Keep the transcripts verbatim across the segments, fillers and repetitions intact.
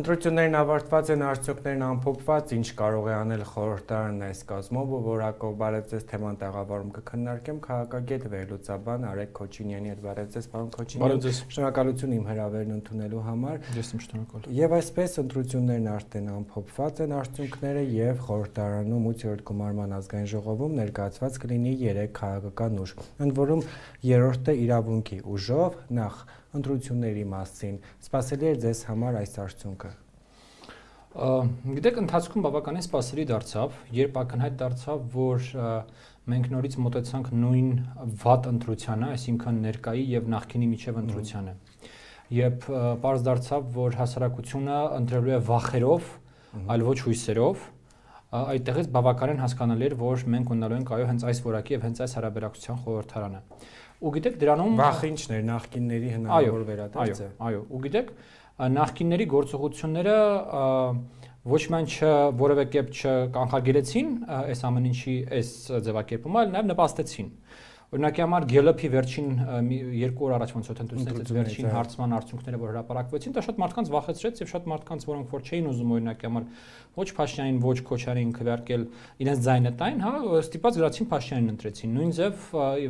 Ընտրություններն ավարտված են, արդյունքներն ամփոփված, ինչ կարող է անել խորհրդարանն այս կազմով, որակով բարև ձեզ թեման տեղավորում կքննարկեմ քաղաքագետ վերլուծաբան Արեգ Քոչինյանի հետ։ Բարև ձեզ, պարոն Քոչինյան։ Շնորհակալություն իմ հրավերն ընդունելու համար։ Ես եմ շնորհակալ։ Եվ այսպես ընտրություններն արդեն ամփոփված են արդյունքները եւ խորհրդարանում ութերորդ գումարման ազգային ժողովում ներկայացված կլինի երեք քաղաքական ուժ։ Ընդ որում երրորդը իրավունքի ուժով նախ ընտրությունների մասին սպասելի էր ձեզ համար այս արդյունքը։ Գիտեք, ընթացքում բավականին սպասելի դարձավ, երբ ակնհայտ դարձավ, որ մենք նորից մոտեցանք նույն վատ ընտրությանը, այսինքն ներկայի եւ նախկինի միջև ընտրությանը։ Երբ պարզ դարձավ, որ հասարակությունը ընտրելու է վախերով, այլ ոչ հույսերով, այդտեղից բավականին հասկանալի էր, որ մենք ունենալու ենք այո հենց այս որակի եւ հենց այս հարաբերակցության խորհրդարանը։ Ու գիտեք դրանում վախը ինչն էր նախկինների հնարավոր վերադարձ է։ Այո, ու գիտեք նախկինների գործողությունները ոչ միայն որևէ կերպ չկանխարգելեցին այս ամեն ինչի այս ձևակերպումը, այլ նաև նպաստեցին։ Օրինակի համար Գելոփի վերջին երկու օր առաջ ոնց որ ընտրություններից վերջին հարցման արդյունքները որ հրապարակվեցին, դա շատ մարդկանց վախեցրեց եւ շատ մարդկանց, որոնք որ չէին ուզում օրինակի համար ոչ Փաշինյանին, ոչ Քոչարյանին քվեարկել իրենց ձայնը տային, հա, ստիպած գրացին Փաշինյանին ընտրեցին։ Նույն ձև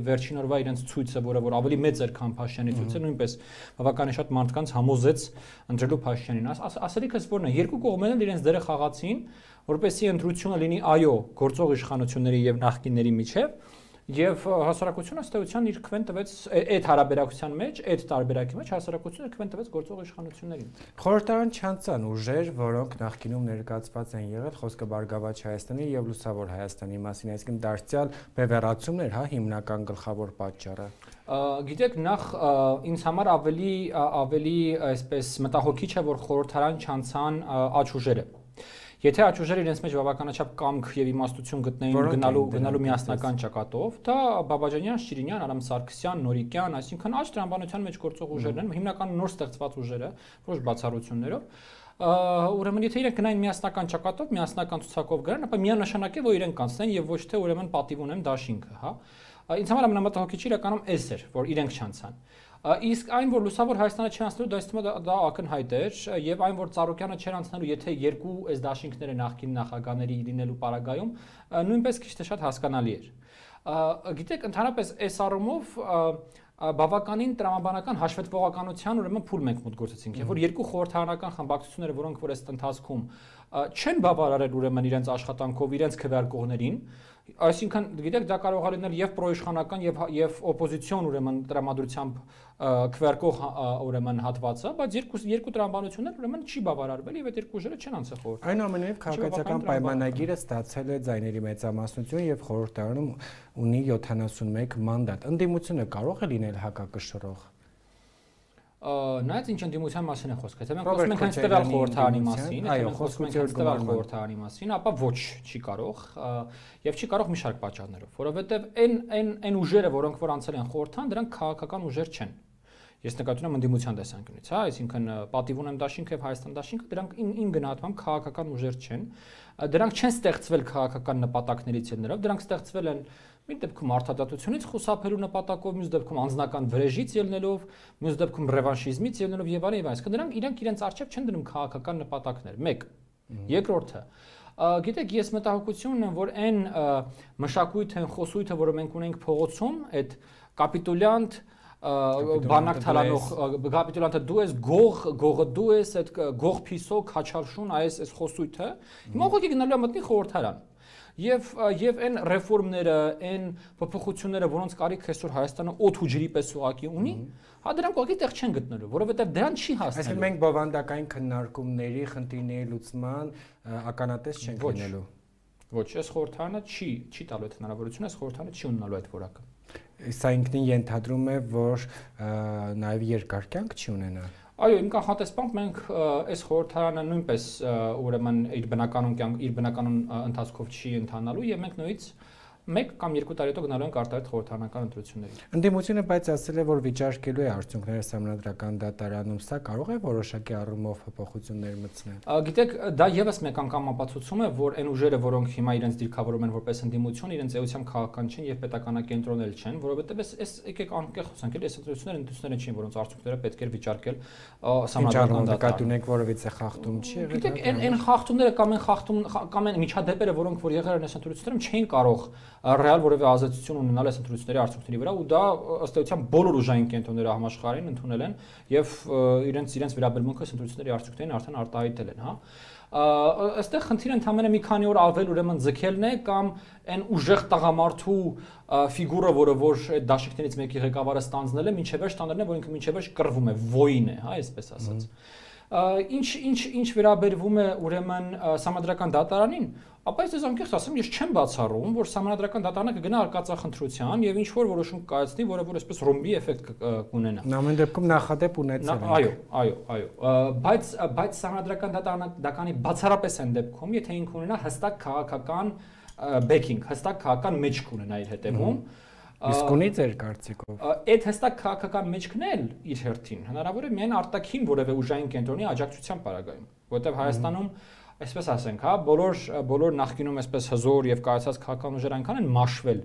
վերջին օրվա իրենց ցույցը, որը որ ավելի մեծ էր, քան Փաշինյանի ցույցը, նույնպես բավականին շատ մարդկանց համոզեց ընտրելու Փաշինյանին։ Ասելիքս որն է, երկու կողմերն էլ իրենց դերը խաղացին, որպեսզի ընտրությունը լինի այո գործող իշխանությունների եւ նախկինների միջև։ Եվ հասարակությունը ըստեյության իր քվեն տվեց այդ հարաբերակցության մեջ, այդ տարբերակի մեջ հասարակությունը քվեն տվեց գործող իշխանություններին։ Խորհրդարան չանցան ուժեր, որոնք նախկինում ներկայացված են եղել, խոսքը Բարգավաճ Հայաստանի եւ Լուսավոր Հայաստանի մասին, այսինքն դարձյալ բևեռացումն էր, հա, հիմնական գլխավոր պատճառը։ Գիտեք, նախ ինձ համար ավելի ավելի այսպես մտահոգիչ է, որ խորհրդարան չանցան աճ ուժերը։ Եթե աճ ուժերը իրենց մեջ բավականաչափ կամք եւ իմաստություն գտնեին գնալու գնալու միասնական ճակատով, դա Բաբաջանյան, Շիրինյան, Արամ Սարգսյան, Նորիկյան, այսինքն աճ տրամաբանության մեջ գործող ուժերն են, հիմնական նոր ստեղծված ուժերը, ոչ բացառություններով։ Ուրեմն եթե իրենք գնային միասնական ճակատով, միասնական ցուցակով գնան, ապա միանշանակ է, որ իրենք կանցնեն եւ ոչ թե ուրեմն պատիվ ունեն դաշինքը, հա։ Ինձ համար ամենամտահոգիչը իրականում էս էր, որ իրենք չանցան։ Իսկ այն, որ Լուսավոր Հայաստանը չէր անցնելու, դա իստում է դա ակնհայտ էր, եւ այն, որ Ծառուկյանը չէր անցնելու, եթե երկու այս դաշինքները նախկին նախագահների լինելու պարագայում, նույնպես քիչ թե շատ հասկանալի էր։ Գիտեք, ընդհանրապես այս առումով բավականին տրամաբանական հաշվետվողականության ուրեմն փուլ մենք մոտ գործեցինք, եւ որ երկու խորհրդարանական խմբակցությունները, որոնք որ այս ընթացքում չեն բավարարել ուրեմն իրենց աշխատանքով իրենց քվեարկողներին, այսինքն գիտեք դա կարող է լինել եւ պրոիշխանական եւ եւ օպոզիցիոն ուրեմն տրամադրությամբ քվեարկող ուրեմն հատվածը, բայց երկու երկու տրամաբանություններ ուրեմն չի բավարարվել եւ այդ երկու ուժերը չեն անցել խորհրդ։ Այնուամենայնիվ քաղաքացիական պայմանագիրը ստացել է ձայների մեծամասնություն եւ խորհրդարանում ունի յոթանասունմեկ մանդատ։ Ընդդիմությունը կարող է լինել հակակշռող։ Նայած ինչ ընդդիմության մասին է խոսքը, եթե մենք խոսում ենք հենց տվյալ խորհրդարանի մասին, այո, խոսում ենք հենց տվյալ խորհրդարանի մասին, ապա ոչ, չի կարող, եւ չի կարող մի շարք պատճառներով, որովհետեւ այն այն այն ուժերը, որոնք որ անցել են խորհրդան, դրանք քաղաքական ուժեր չեն։ Ես նկատում եմ ընդդիմության տեսանկյունից, հա, այսինքն պատիվ ունեմ դաշինքը եւ Հայաստան դաշինքը, դրանք իմ գնահատմամբ քաղաքական ուժեր չեն։ Դրանք չեն ստեղծվել քաղաքական նպատակներից ելնելով, դրանք ստեղծվել են մի դեպքում արդարադատությունից խուսափելու նպատակով, մյուս դեպքում անձնական վրեժից ելնելով, մյուս դեպքում ռևանշիզմից ելնելով եւ այլն եւ այլն։ Դրանք իրանք իրենց արժեվ չեն դնում քաղաքական նպատակներ։ մեկ։ Երկրորդը, գիտեք, ես մտահոգություն ունեմ, որ այն մշակույթը, խոսույթը, որը մենք ունենք փողոցում, այդ կապիտուլյանտ բանակ թալանող կապիտուլանտը դու ես, գող, գողը դու ես, այդ գող փիսո, քաչարշուն, այս այս խոսույթը, հիմա ուղղակի գնալու է մտնի խորհրդարան։ Եվ եւ այն ռեֆորմները, այն փոփոխությունները, որոնց կարիք այսօր Հայաստանը օդ ու ջրի պես ուղակի ունի, հա դրանք ուղղակի տեղ չեն գտնելու, որովհետեւ դրան չի հասնելու։ Այսինքն մենք բովանդակային քննարկումների, խնդիրների լուծման ականատես չենք լինելու։ Ոչ, այս խորհրդարանը չի չի տալու այդ հնարավորությունը, այս խորհրդարանը չի ունենալու այդ որակը։ Սա ինքնին ենթադրում է, որ նաեւ երկար կյանք չի ունենա։ Այո, իմ կանխատեսությամբ մենք այս խորհրդարանը նույնպես ուրեմն իր բնականon կյանք իր բնականon ընթացքով չի ընթանալու եւ մենք նույնից մեկ կամ երկու տարի հետո գնալու ենք արտահայտ խորհրդարանական ընտրությունների։ Ընդդիմությունը բայց ասել է, որ վիճարկելու է արդյունքները Սահմանադրական դատարանում, սա կարող է որոշակի առումով փոփոխություններ մտցնել։ Գիտեք, դա եւս մեկ անգամ ապացուցում է, որ այն ուժերը, որոնք հիմա իրենց դիրքավորում են որպես ընդդիմություն, իրենց էությամբ քաղաքական չեն եւ պետականակենտրոնել չեն, որովհետեւ այս եկեք անկեղ խոսանք, էլի այս ընտրությունները ընտրությունները չեն, որոնց արդյունքները պետք է վիճարկել Սահմանադրական դատարանում։ Ունենք որևիցե խախտում չի եղել։ Գիտեք, այն այն խախտումները կամ այն խախտում կամ այն միջադեպերը, որոնք որ եղել են այս ընտրություններում, չէին կարող ռեալ որևէ ազդեցություն ունենալ այս ընտրությունների արդյունքների վրա, ու դա ըստ էության բոլոր ուժային կենտրոնները համաշխարհային ընդունել են եւ իրենց իրենց վերաբերմունքը այս ընտրությունների արդյունքներին արդեն արտահայտել են, հա։ Այստեղ խնդիրը ընդհանրապես մի քանի օր ավել ուրեմն ձգելն է կամ այն ուժեղ տղամարդու ֆիգուրը, որը որ այդ դաշինքներից մեկի ղեկավարը ստանձնել է, մինչև վերջ տաներն է, որ ինքը մինչև վերջ կռվում է, ոին է, հա, այսպես ասած։ Ինչ ինչ ինչ վերաբերվում է ուրեմն Սահմանադրական դատարանին, ապա ես անկեղծ ասեմ, ես չեմ բացառում, որ Սահմանադրական դատարանը կգնա արկածախնդրության եւ ինչ որ որոշում կայացնի, որը որ այսպես ռոմբի էֆեկտ կունենա։ Նամեն դեպքում նախադեպ ունեցել է։ Այո, այո, այո։ Բայց բայց Սահմանադրական դատարանի բացառապես այն դեպքում, եթե ինքը ունենա հստակ քաղաքական բեքինգ, հստակ քաղաքական մեջք ունենա իր հետևում, իսկ ունի ձեր կարծիքով։ Այդ հստակ քաղաքական մեջքն էլ իր հերթին հնարավոր է միայն արտաքին որևէ ուժային կենտրոնի աջակցության պարագայում, որտեղ Հայաստանում այսպես ասենք, հա, բոլոր բոլոր նախկինում այսպես հզոր եւ կայացած քաղաքական ուժեր այնքան են մաշվել,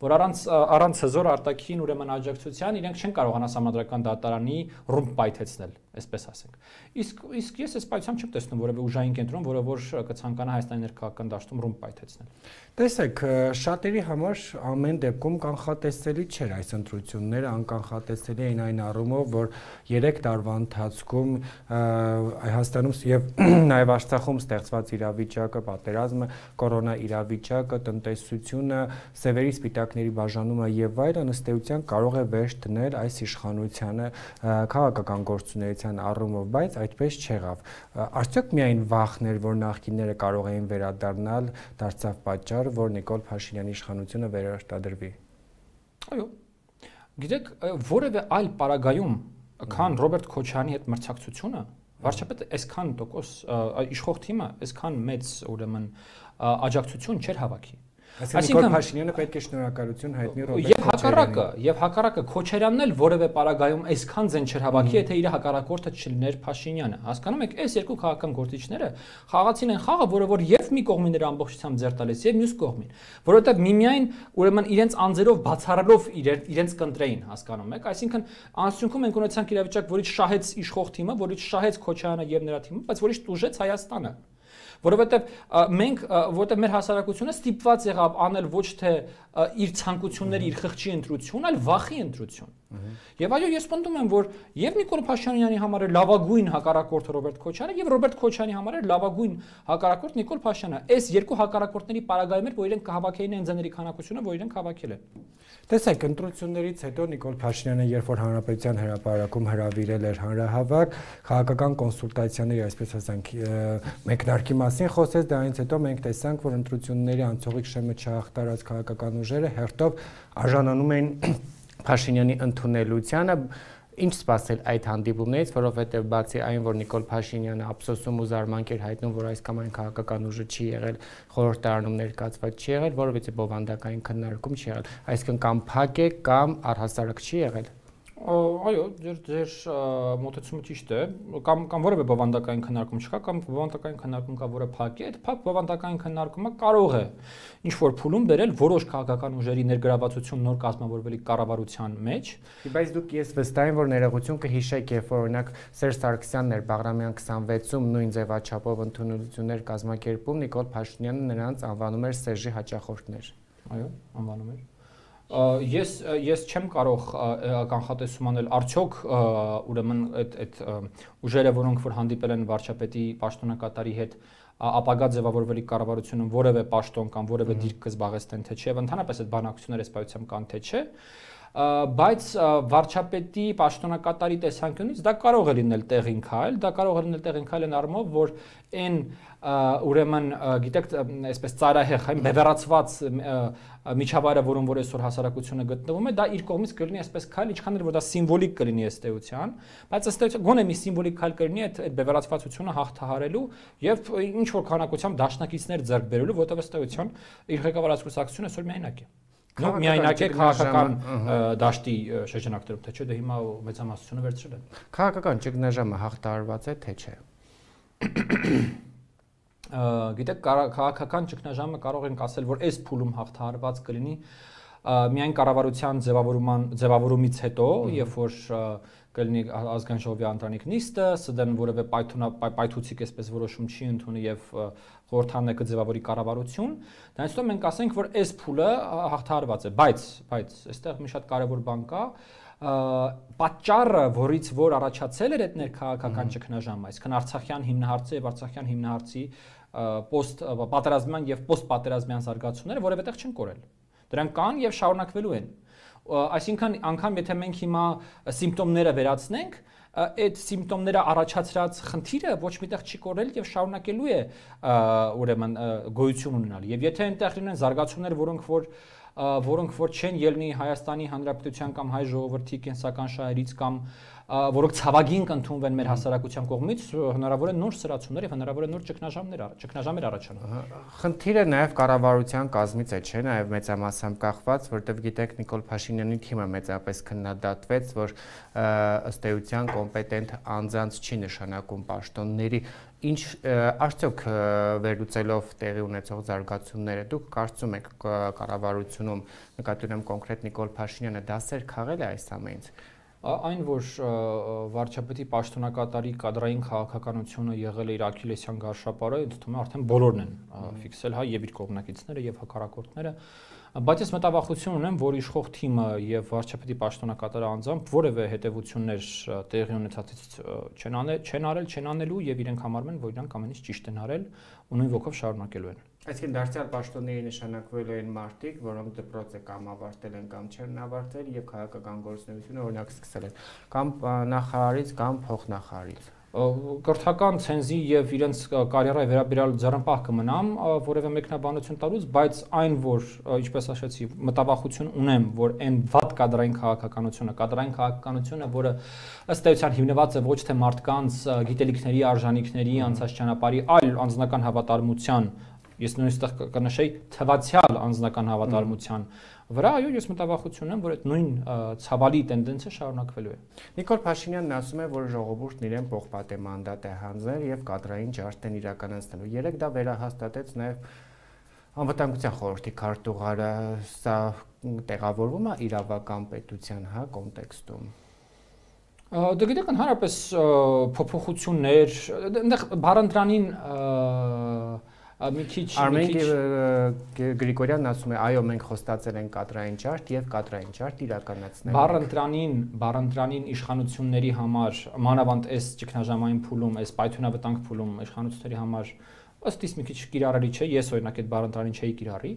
որ առանց առանց հզոր արտաքին ուրեմն աջակցության իրենք չեն կարողանա Սահմանադրական դատարանի ռումբ պայթեցնել, այսպես ասենք։ Իսկ իսկ ես այս պայթությամբ չեմ տեսնում որևէ ուժային կենտրոն, որը որ կցանկանա Հայաստանի ներքաղաքական դաշտում ռումբ պայթեցնել։ Տեսեք, շատերի համար ամեն դեպքում կանխատեսելի չէր այս ընտրությունները, անկանխատեսելի էին այն առումով, որ երեք տարվա ընթացքում Հայաստանում եւ նաեւ Արցախում ստեղծված իրավիճակը, պատերազմը, կորոնա իրավիճակը, տնտեսությունը, սևերի սպիտակների բաժանումը եւ այլն ըստ էության կարող է վերջ դնել այս իշխանությանը քաղաքական գործունեության առումով, բայց այդպես չեղավ։ Արդյոք միայն վախներ, որ նախկինները կարող էին վերադառնալ, դարձավ պատճառ, որ Նիկոլ Փաշինյանի իշխանությունը վերարտադրվի։ Այո։ Գիտեք, որևէ այլ պարագայում, քան Ռոբերտ Քոչարյանի հետ մրցակցությունը, վարչապետը այսքան տոկոս իշխող թիմը այսքան մեծ ուրեմն աջակցություն չէր հավաքի։ Այսինքն Փաշինյանը պետք է շնորհակալություն հայտնի Ռոբերտ Եւ հակառակը, եւ հակառակը Քոչարյանն էլ որևէ պարագայում այսքան ձեն չէր հավաքի, եթե իր հակառակորդը չլիներ Փաշինյանը։ Հասկանում եք, այս երկու քաղաքական գործիչները խաղացին են խաղը, որը որ եւ մի կողմին էր ամբողջությամբ ձեռ տալիս, եւ մյուս կողմին, որովհետեւ միմիայն ուրեմն իրենց անձերով բացառելով իրենց կընտրեին, հասկանում եք, այսինքն անցյունքում ենք ունեցանք իրավիճակ, որից շահեց իշխող թիմը, որից շահեց Քոչարյանը եւ նրա թիմը, բայց որից տուժեց Հայաստանը։ Որովհետև մենք, որովհետև մեր հասարակությունը ստիպված եղավ անել ոչ թե իր ցանկությունների, իր խղճի ընտրություն, այլ վախի ընտրություն։ Եվ այո, ես պնդում եմ, որ եւ Նիկոլ Փաշինյանի համար է լավագույն հակառակորդը Ռոբերտ Քոչարյանը եւ Ռոբերտ Քոչարյանի համար է լավագույն հակառակորդ Նիկոլ Փաշինյանը։ Այս երկու հակառակորդների պարագայում էր, որ իրենք կհավաքեին այն ձների քանակությունը, որ իրենք հավաքել են։ Տեսեք, ընտրություններից հետո Նիկոլ Փաշինյանը, երբ որ Հանրապետության հրապարակում հրավիրել էր հանրահավաք, քաղաքական կոնսուլտացիաների, այսպես ասենք, մեկնարկի մասին խոսեց, դրանից հետո մենք տեսանք, որ ընտրությունների անցողիկ շեմը չհաղթարած քաղաքական ուժերը հերթով արժանանում են Փաշինյանի ընդունելությանը, ինչ սպասել այդ հանդիպումներից, որովհետև բացի այն, որ Նիկոլ Փաշինյանը ափսոսում ու զարմանք էր հայտնում, որ այս կամ այն քաղաքական ուժը չի եղել, խորհրդարանում ներկայացված չի եղել, որովհետև բովանդակային քննարկում չի եղել, այսինքն կամ փակ է կամ առհասարակ չի եղել։ Այո, ձեր ձեր մոտեցումը ճիշտ է, կամ կամ որևէ բովանդակային քննարկում չկա, կամ բովանդակային քննարկում կա, որը փակ է, այդ փակ բովանդակային քննարկումը կարող է ինչ որ փուլում բերել որոշ քաղաքական ուժերի ներգրավվածություն նոր կազմավորվելի կառավարության մեջ։ Բայց դուք ես վստահ եմ, որ ներողություն կհիշեք, երբ որ օրինակ Սերժ Սարգսյանն էր Բաղրամյան քսանվեցում նույն ձևաչափով ընդունություններ կազմակերպում, Նիկոլ Փաշինյանը նրանց անվանում էր Սերժի հաճախորդներ։ Այո, անվանում էր։ Ես ես չեմ կարող կանխատեսում անել արդյոք ուրեմն այդ այդ ուժերը, որոնք որ հանդիպել են վարչապետի պաշտոնակատարի հետ, ապագա ձևավորվելի կառավարությունում որևէ պաշտոն կամ որևէ դիրք կզբաղեցնեն թե չէ, եւ ընդհանրապես այդ բանակցությունները սպայությամբ կան թե չէ, բայց վարչապետի պաշտոնակատարի տեսանկյունից դա կարող է լինել տեղին քայլ, դա կարող է լինել տեղին քայլ այն առումով, որ այն ուրեմն գիտեք, այսպես ծայրահեղ, այն բևեռացված միջավայրը, որում որ այսօր հասարակությունը գտնվում է, դա իր կողմից կլինի այսպես քայլ, ինչքան էլ որ դա սիմվոլիկ կլինի ըստ էության, բայց ըստ էության գոնե մի սիմվոլիկ քայլ կլինի այդ բևեռացվածությունը հաղթահարելու եւ ինչ որ քանակությամբ դաշնակիցներ ձեռք բերելու, որտեղ ըստ էության իր ղեկավարած կուսակցությունը այսօր միայնակ է։ Նո միայնակ է քաղաքական դաշտի շրջանակներում, թե չէ, դե հիմա մեծամասնությունը վերցրել են։ Քաղաքական ճգնաժամը հաղթահարված է, թե չէ։ Գիտեք, քաղաքական ճգնաժամը կարող ենք ասել, որ այս փուլում հաղթահարված կլինի միայն կառավարության ձևավորման ձևավորումից հետո, երբ որ կլինի ազգային ժողովի անդրանիկ նիստը, ՍԴ-ն որևէ պայթուցիկ այսպես որոշում չի ընդունի եւ խորհրդանը կձևավորի կառավարություն, դրանից հետո մենք ասենք, որ այս փուլը հաղթահարված է, բայց բայց այստեղ մի շատ կարևոր բան կա, պատճառը, որից որ առաջացել էր այդ ներքաղաքական ճգնաժամը, այսինքն Արցախյան հիմնահարցը եւ Արցախյան հիմնահարցի post պատերազմյան եւ post պատերազմյան զարգացումները որևէտեղ չեն կորել։ Դրանք կան եւ շարունակվելու են։ Այսինքն անգամ եթե մենք հիմա սիմպտոմները վերացնենք, այդ սիմպտոմները առաջացրած խնդիրը ոչ միտեղ չի կորել եւ շարունակելու է ուրեմն գոյություն ունենալ։ Եվ եթե այնտեղ լինեն զարգացումներ, որոնք որ որոնք որ չեն ելնի Հայաստանի Հանրապետության կամ հայ ժողովրդի կենսական շահերից կամ որոնք ցավագին կընդունվեն մեր հասարակության կողմից, հնարավոր է նոր սրացումներ եւ հնարավոր է նոր ճգնաժամներ, ճգնաժամեր առաջանան։ Խնդիրը նաեւ կառավարության կազմից է, չէ՞, նաեւ մեծամասամբ կախված, որտեղ գիտեք Նիկոլ Փաշինյանի թիմը մեծապես քննադատվեց, որ ըստ էության կոմպետենտ անձանց չի նշանակում պաշտոնների Ինչ արդյոք վերլուծելով տեղի ունեցող զարգացումները դուք կարծում եք կառավարությունում նկատի ունեմ կոնկրետ Նիկոլ Փաշինյանը դասեր քաղել է այս ամենից։ Այն որ վարչապետի պաշտոնակատարի կադրային քաղաքականությունը եղել է իր աքիլեսյան գարշապարը, ինձ թվում է արդեն բոլորն են ֆիքսել, հա, եւ իր կողմնակիցները եւ հակառակորդները, բայց ես մտավախություն ունեմ, որ իշխող թիմը եւ վարչապետի պաշտոնակատարը անձամբ որևէ հետեւություններ տեղի ունեցածից չեն անել, չեն արել, չեն անելու եւ իրենք համարում են, որ իրանք ամեն ինչ ճիշտ են արել ու նույն ոգով շարունակելու են։ Այսինքն դարձյալ պաշտոնների նշանակվելու են մարդիկ, որոնք դպրոցը կամ ավարտել են կամ չեն ավարտել եւ քաղաքական գործունեությունը օրինակ սկսել են կամ նախարարից կամ փոխնախարարից։ Կրթական ցենզի եւ իրենց կարիերայի վերաբերյալ ձեռնպահ կմնամ որևէ մեկնաբանություն տալուց, բայց այն որ ինչպես ասացի, մտավախություն ունեմ, որ այն վատ կադրային քաղաքականությունը, կադրային քաղաքականությունը, որը ըստ էության հիմնված է ոչ թե մարդկանց գիտելիքների, արժանինքների, անցած ճանապարհի, այլ անձնական հավատարմության, ես նույնիսկ կնշեի թվացial անձնական հավատարմության վրա, այո, ես մտավախություն ունեմ, որ այդ նույն ցավալի տենդենսը շարունակվելու է։ Նիկոլ Փաշինյանն ասում է, որ ժողովուրդն իրեն պողպատե մանդատ է հանձնել եւ կադրային ջարդ են իրականացնելու։ Երեք դա վերահաստատեց նաեւ անվտանգության խորհրդի քարտուղարը, սա տեղավորվում է իրավական պետության, հա, կոնտեքստում։ Դե գիտեք, ընդհանրապես փոփոխություններ, այնտեղ բառընտրանին մի քիչ Արմեն Գրիգորյանն ասում է, այո, մենք խոստացել ենք կադրային ջարդ եւ կադրային ջարդ իրականացնել։ Բառընտրանին, բառընտրանին իշխանությունների համար, մանավանդ այս ճգնաժամային փուլում, այս պայթյունավտանգ փուլում իշխանությունների համար ըստ իս մի քիչ կիրառելի չէ, ես օրինակ այդ բառընտրանին չէի կիրառի,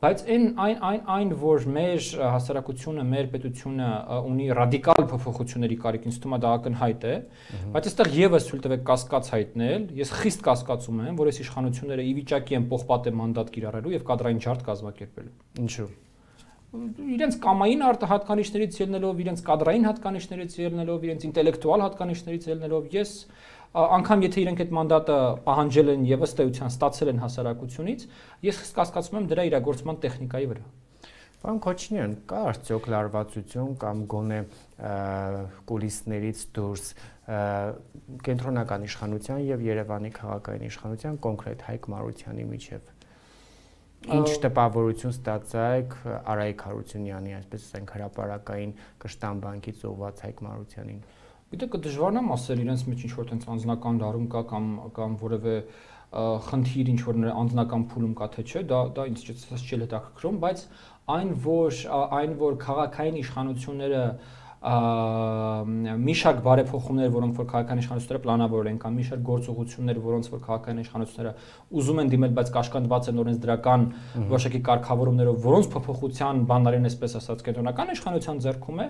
բայց այն այն այն այն որ մեր հասարակությունը, մեր պետությունը ունի ռադիկալ փոփոխությունների կարիք, ինձ թվում է դա ակնհայտ է, բայց այստեղ եւս ցույց տվեք կասկած հայտնել, ես խիստ կասկածում եմ, որ այս իշխանությունները ի վիճակի են պողպատե մանդատ կիրառելու եւ կադրային ջարդ կազմակերպելու։ Ինչու՞։ Իրենց կամային հատկանիշներից ելնելով, իրենց կադրային հատկանիշներից ելնելով, իրենց ինտելեկտուալ հատկանիշներից ելնելով, ես անգամ եթե իրենք այդ մանդատը պահանջել են եւ ըստ էության ստացել են հասարակությունից, ես խիստ կասկածում եմ դրա իրագործման տեխնիկայի վրա։ Պարոն Քոչինյան, կա արդյոք լարվածություն կամ գոնե կուլիսներից դուրս կենտրոնական իշխանության եւ Երևանի քաղաքային իշխանության կոնկրետ Հայկ Մարությանի միջեւ։ Ինչ տպավորություն ստացայք Արայիկ Հարությունյանի, այսպես ասենք, հրապարակային կշտան բանկից ուղված Հայկ Մարությանին։ Գիտեք, դժվարն է ասել իրենց մեջ ինչ որ տենց անձնական դարում կա կամ կամ որևէ խնդիր ինչ որ անձնական փուլում կա թե չէ, դա դա ինձ չի հետաքրքրում, բայց այն որ այն որ քաղաքային իշխանությունները մի շարք բարեփոխումներ, որոնք որ քաղաքական իշխանությունները պլանավորել են, կամ մի շարք գործողություններ, որոնց որ քաղաքական իշխանությունները ուզում են դիմել, բայց կաշկանդված են օրենսդրական որոշակի կարգավորումներով, որոնց փոփոխության բանալին այսպես ասած կենտրոնական իշխանության ձեռքում է,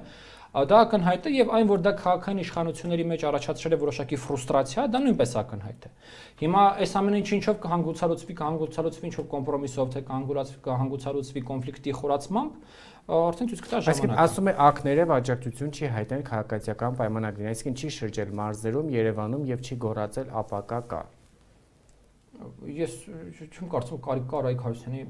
դա ակնհայտ է եւ այն որ դա քաղաքական իշխանությունների մեջ առաջացրել է որոշակի ֆրուստրացիա, դա նույնպես ակնհայտ է։ Հիմա այս ամեն ինչը ինչով կհանգուցալուծվի, կհանգուցալուծվի ինչ-որ կոմպրոմիսով, թե կհանգուցալուծվի կոնֆլիկտի խորացմամբ, արդեն ցույց կտա ժամանակը։ Այսինքն ասում է ակները աջակցություն չի հայտնել քաղաքացիական պայմանագրին, այսինքն չի շրջել մարզերում, Երևանում եւ չի գոռացել ապակա կա։ Ես չեմ կարծում կարիք կա Արայիկ Հարությունյանի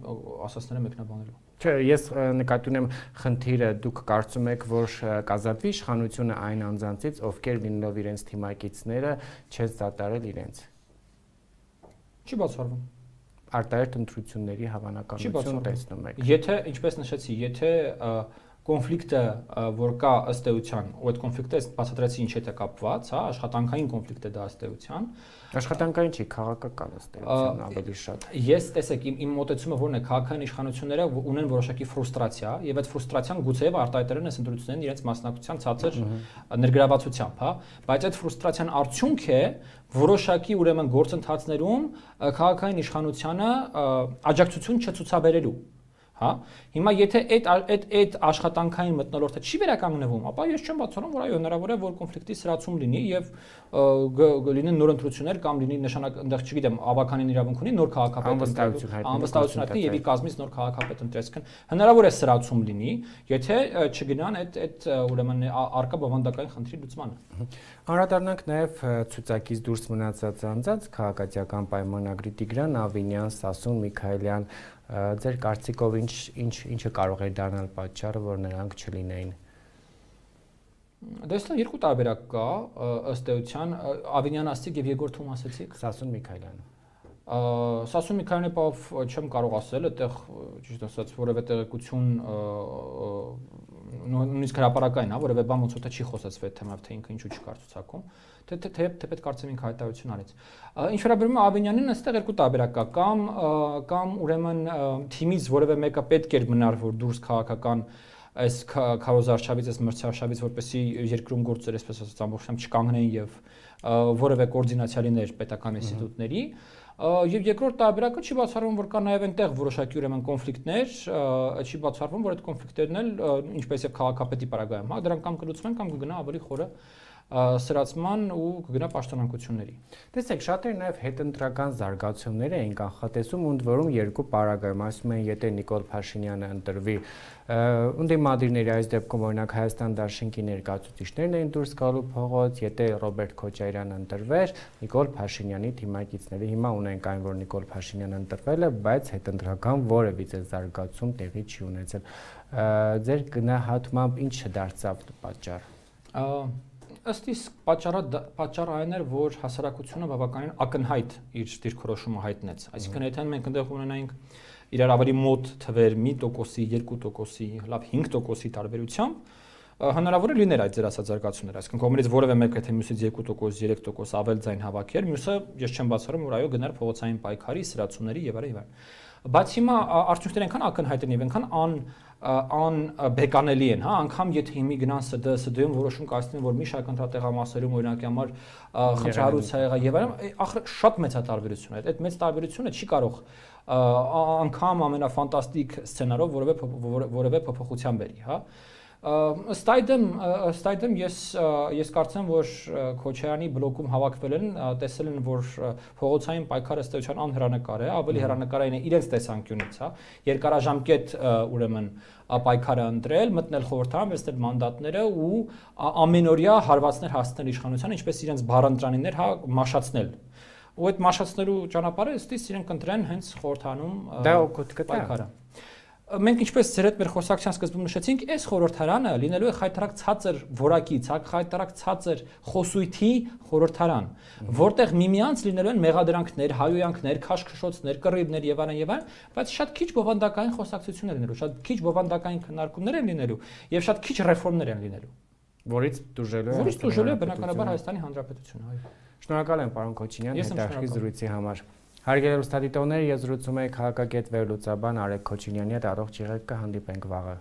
ասածները մեկնաբանելու։ Չէ, ես նկատի ունեմ խնդիրը, դուք կարծում եք, որ կազատվի իշխանությունը այն անձանցից, ովքեր լինելով իրենց թիմակիցները չես դատարել իրենց։ Չի բացառվում։ Արտահայտ ընտրությունների հավանականություն տեսնում եք։ Եթե, ինչպես նշեցի, եթե կոնֆլիկտը, որ կա ըստ էության, ու այդ կոնֆլիկտը բացատրեցի ինչ հետ է կապված, հա, աշխատանքային կոնֆլիկտ է դա ըստ էության։ Աշխատանքային չի, քաղաքական ըստ էության ավելի շատ։ Ես տեսեք, իմ իմ մոտեցումը որն է, քաղաքային իշխանությունները ունեն որոշակի ֆրուստրացիա, եւ այդ ֆրուստրացիան գուցեև արտահայտել են այս ընտրություններին իրենց մասնակցության ցածր ներգրավվածությամբ, հա, բայց այդ ֆրուստրացիան արդյունք է որոշակի ուրեմն գործընթացներում քաղաքային իշխանությանը աջակցություն չցուցաբերելու։ Հա, հիմա եթե այդ այդ այդ աշխատանքային մթնոլորտը չի վերականգնվում, ապա ես չեմ բացառում, որ այո հնարավոր է, որ կոնֆլիկտի սրացում լինի եւ լինեն նոր ընտրություններ կամ լինի նշանակ, այնտեղ չգիտեմ, ավականին իրավունք ունի նոր քաղաքապետ անվստահություն հայտնի եւ ի կազմից նոր քաղաքապետ ընտրեցքն հնարավոր է սրացում լինի, եթե չգնան այդ այդ ուրեմն արկա բովանդակային խնդրի լուծմանը։ Անդրադառնանք նաեւ ցուցակից դուրս մնացած անձանց քաղաքացիական պայմանագրի Տիգրան Ավինյան, Սասուն Միքայելյան, ձեր կարծիքով ինչ ինչ ինչը կարող է դառնալ պատճառը, որ նրանք չլինեին։ Դե այստեղ երկու տարբերակ կա, ըստ էության, Ավինյան ասացիք եւ Եգոր Թում ասացիք։ Սասուն Միքայելյան։ Սասուն Միքայելյանի բավ չեմ կարող ասել, այդտեղ ճիշտ ասած որևէ տեղեկություն նույնիսկ հրապարակային, հա, որևէ բան ոնց որ թե չի խոսացվել թեմայով, թե ինքը ինչու չկար ցուցակում, թե թե թե պետք կարծեմ ինքը հայտարարություն արեց։ Ինչ վերաբերում է Ավինյանին, այստեղ երկու տարբերակ կա, կամ կամ ուրեմն թիմից որևէ մեկը պետք էր մնար, որ դուրս քաղաքական այս քարոզարշավից, այս մրցարշավից, որպեսզի երկրում գործեր, այսպես ասած, ամբողջությամբ չկանգնեն եւ որևէ կոորդինացիա լիներ պետական ինստիտուտների։ Եվ երկրորդ տարբերակը չի բացառվում, որ կա նաև այնտեղ որոշակի ուրեմն կոնֆլիկտներ, չի բացառվում, որ այդ կոնֆլիկտերն էլ ինչպես եւ քաղաքապետի պարագայում, հա, դրանք կամ կլուծվեն կամ կգնա ավելի խորը սրացման ու կգնա պաշտոնանկությունների։ Տեսեք, շատերը նաև հետընտրական զարգացումներ էին կանխատեսում, ընդ որում երկու պարագայում, ասում են, եթե Նիկոլ Փաշինյանը ընտրվի, ընդդիմադիրների այս դեպքում օրինակ Հայաստան Դաշինքի ներկայացուցիչներն էին դուրս գալու փողոց, եթե Ռոբերտ Քոչարյանը ընտրվեր, Նիկոլ Փաշինյանի թիմակիցները հիմա ունենք այն, որ Նիկոլ Փաշինյանը ընտրվել է, բայց հետընտրական որևիցե զարգացում տեղի չի ունեցել։ Ձեր գնահատմամբ ինչ դարձավ պատճառ։ Ըստ իս պատճառը պատճառը այն էր, որ հասարակությունը բավականին ակնհայտ իր դիրքորոշումը հայտնեց։ Այսինքն եթե մենք այնտեղ ունենայինք իրար ավելի մոտ թվեր մի տոկոսի, երկու տոկոսի, լավ հինգ տոկոսի տարբերությամբ, հնարավոր է լիներ այդ ձեր ասած զարգացումները։ Այսինքն կողմից որևէ մեկը թե մյուսից երկու տոկոս, երեք տոկոս ավել ձայն հավաքեր, մյուսը ես չեմ բացառում, որ այո գնար փողոցային պայքարի, սրացումների եւ այլն եւ այլն։ Բայց հիմա արդյունքները այնքան ակնհայտ են եւ այնքան ան ան բեկանելի են, հա, անգամ եթե հիմի գնան ՍԴ, ՍԴ-ում որոշում կայացնեն, որ մի շարք ընտրատեղամասերում օրինակի համար խնդրահարույց եղա եւ այլն, ախր շատ մեծ է տարբերությունը։ Այդ մեծ տարբերությունը չի կարող անգամ ամենաֆանտաստիկ սցենարով որևէ որևէ փոփոխության բերի, հա։ Ըստ այդմ, ըստ այդմ ես ես կարծեմ, որ Քոչարյանի բլոկում հավաքվել են, տեսել են, որ փողոցային պայքարը ըստ էության անհեռանկար է, ավելի հեռանկարային է իրենց տեսանկյունից, հա, երկարաժամկետ ուրեմն պայքարը ընտրել, մտնել խորհրդարան, վերցնել մանդատները ու ամենօրյա հարվածներ հասցնել իշխանությանը, ինչպես իրենց բառընտրանիներ, հա, մաշացնել։ Ու այդ մաշացնելու ճանապարհը ըստ իս իրենք ընտրեն հենց խորհրդանում պայքարը։ Մենք ինչպես ձեր հետ մեր խոսակցության սկզբում նշեցինք, այս խորհրդարանը լինելու է խայտարակ ցածր որակից, խայտարակ ցածր խոսույթի խորհրդարան, որտեղ միմյանց լինելու են մեղադրանքներ, հայոյանքներ, քաշքշոցներ, կռիվներ եւ այլն եւ այլն, բայց շատ քիչ բովանդակային խոսակցություններ են լինելու, շատ քիչ բովանդակային քննարկումներ են լինելու եւ շատ քիչ ռեֆորմներ են լինելու, որից դժվար է որից դժվար է բնականաբար Հայաստանի Հանրապետությունը, այո։ Շնորհակալ եմ պարոն Քոչինյան հետաքրքիր զրույցի համար։ Հարգելի ուստադիտողներ, ես զրուցում եմ քաղաքագետ վերլուծաբան Արեգ Քոչինյանի հետ, առողջ եղեք, կհանդիպենք վաղը։